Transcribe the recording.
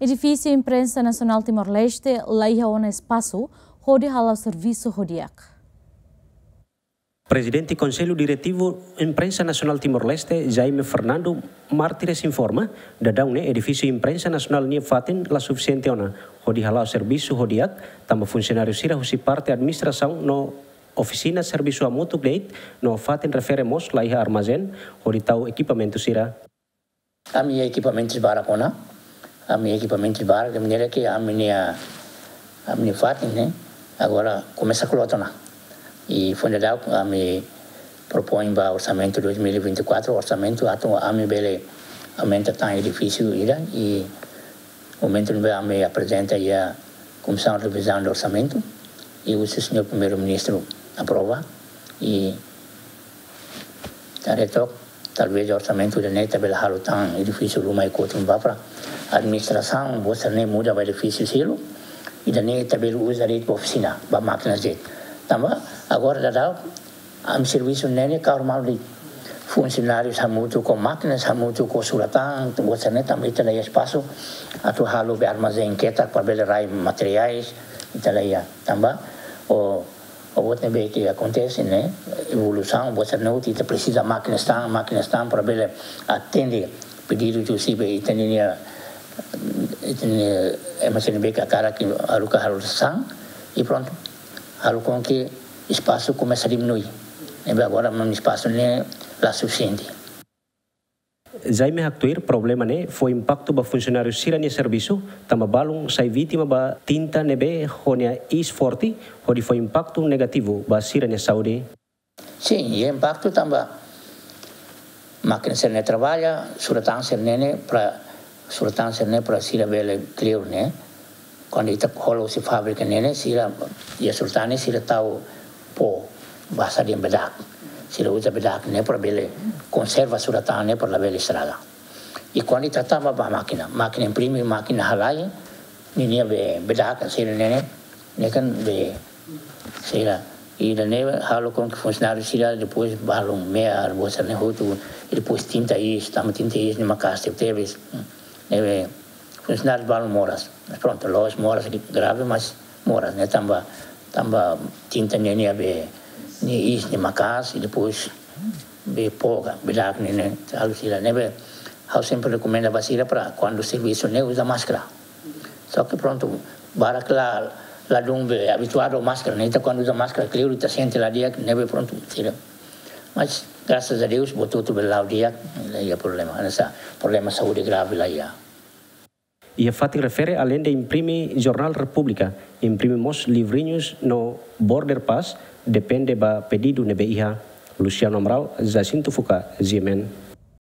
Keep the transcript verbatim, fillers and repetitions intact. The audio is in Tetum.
Edifísiu Imprensa Nasionál Timor-Leste la iha ona espasu hodi hala'o servisu ho di'ak. Prezidente Konsellu Diretivu Imprensa Nasionál Timor-Leste, Jaime Fernando Martires, informa, daudaun ne'e edifísiu Imprensa Nasionál nia fatin la sufisiente ona hodi hala'o servisu ho di'ak, tanba funsionáriu sira husi parte administrasaun no ofisina servisu hamutuk de'it, no fatin refere mós la iha armazén hodi tau ekipamentu sira. Ami iha ekipamentus barak ona, ami iha ekipamentus barak, de maneira ke ami-nia, ami-nia fatin ne'e agora komesa kloot ona. I foin daudauk ami propoin ba orsamentu dois mil e vinte e quatro, orsamentu atu ami bele aumenta tan edifísiu ida, i momentu ne'ebé ami aprezenta iha Komisaun Revizaun de Orsamentu, i husi señór Primeiru-Ministru aprova, i ita haree took, talvés orsamentu ida-ne'e ita bele halo tan edifísiu ruma i kotun ba para administrasaun, buat sira-ne'e muda ba edifísiu seluk, ida-ne'e ita bele uza de'it ba ofisina, ba mákina de'it. Tanba agora daudaun ami servisu ne'e ne'e kahur malu de'it. Funsionáriu hamutuk ho mákina, hamutuk ho surat-tan, buat sira-ne'e tanba ita la iha espasu atu halo be armazén ketak para bele rai materiais, ita la iha. Tanba o, o buat ne'ebé ke akontese ne'e, evolusaun, buat sira-ne'e hotu ita presiza mákinas tan, mákinas tan para bele atende pedidu husi be ita-nia, ita-nia, ema sira ne'ebé ke hakarak ke haruka halo sasán, i prontu. Halo com que espasu komesa diminui. Ne'ebé agora mak espasu ne'e la sufisiente. Jaime haktuir problema ne'e fó impaktu ba funsionáriu sira-nia servisu, tanba balun sai vítima ba tinta ne'ebé ho nia iis forte, hodi fó impaktu negativu ba sira-nia saúde. Sin, iha impaktu tanba mákina sira-ne'e trabalha, surat-tan sira-ne'e ne'e para, surat-tan sira-ne'e para sira bele kleur ne'e. Kuandu ita hola husi fábrika ne'e ne'e, sira, iha surat-tan ne'e sira tau pó, basa dehan bedak. Sira uza bedak ne'e para bele konserva surat-tan ne'e para la bele estraga. I kuandu ita tama ba mákina, mákina imprime, mákina halai, ninia be, bedak sira-ne'e ne'e, ne'e kan be, sira, ida-ne'e halo com que funsionáriu sira depois balun me'ar, buat sira-ne'e hotu, i depois tinta iis, tanba tinta iis ne'e maka'as tebetebes. Ne'ebé funsionáriu balun moras. Mas prontu, la'ós moras grave, mas moras, ne'e tanba, tanba tinta ne'e nia be, nia iis ne'e maka'as, i depois be pó ka, bedak ne'e ne'e, halo sira ne'ebé. Ha'u sempre rekomenda ba sira para kuandu servisu ne'e uza máskara. Só que prontu, barak la, ladún be abituadu ho máskara, ne'e ita kuandu uza máskara, kleur ita sente la di'ak, ne'ebé prontu, sira. Mas, grasas a Deus, buat hotu bele la'o di'ak, la iha problema, hanesan problema saúde grave la iha. Iha fatin refere, aleinde imprime jornál Repúblika, imprime mós livrinhus no border pass, depende ba pedidu ne'ebé iha. Luciano Amaral, Jacinto Fuka, G M N.